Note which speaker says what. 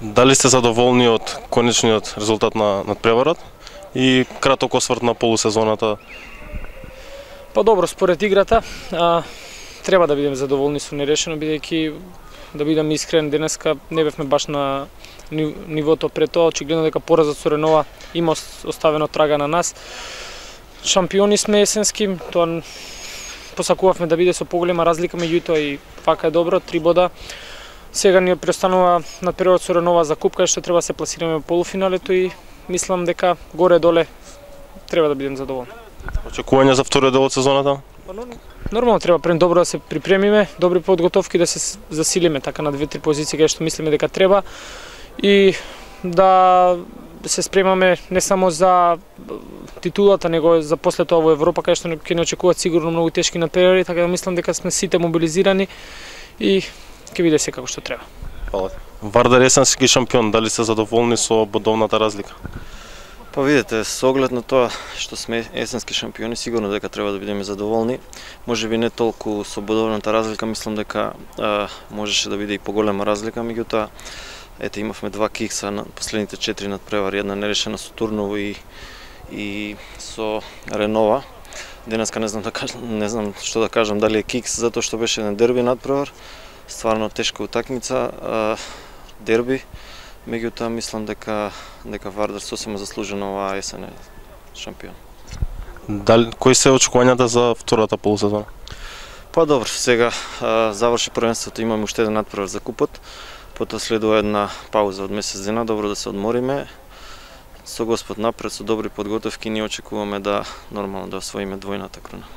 Speaker 1: Дали сте задоволни од конечниот резултат на надпреварот и краток осврт на полусезоната?
Speaker 2: Па добро, според играта треба да бидеме задоволни со нерешено, бидејќи да бидам искрен, денеска не бевме баш на нивото пред тоа, очигледно дека поразот со Ренова има оставено трага на нас. Шампиони сме есенски, тоа посакувавме да биде со поголема разлика меѓутоа и вака е добро, 3 бода. Сега ни преостанува надпреварот со Ренова за куп, кај што треба да се пласираме во полуфиналето и мислам дека горе-доле треба да бидем задоволни.
Speaker 1: Очекувања за вториот дел од сезоната?
Speaker 2: Нормално треба пред добро да се припремиме, добри подготовки да се засилиме така на 2-3 позиции кај што мислиме дека треба и да се спремаме не само за титулата, него за после тоа во Европа кај што ќе не очекуваат сигурно многу тешки надпревари, така да мислам дека сме сите мобилизирани и ќе биде се како што треба.
Speaker 1: Фала. Вардар есенски шампион, дали сте задоволни со бодовната разлика?
Speaker 3: Па видите, со оглед на тоа што сме есенски шампиони, сигурно дека треба да бидеме задоволни. Можеби не толку со бодовната разлика, мислам дека можеше да биде и поголема разлика, меѓутоа ете имавме 2 кикса на последните 4 надпревари, една нерешена со Турново и со Ренова. Денеска не знам што да кажам, дали е кикс затоа што беше еден дерби надпревар, стварно тешка утакмица, дерби. Меѓутоа мислам дека Вардар сосема заслужено оваа есен е шампион.
Speaker 1: Кои се очекувањата за втората полусезона?
Speaker 3: Па добро, сега заврши првенството, имаме уште еден надпревар за купот, потоа следува една пауза од месец дена, добро да се одмориме. Со Господ напред, со добри подготовки, ние очекуваме да нормално да освоиме двојната круна.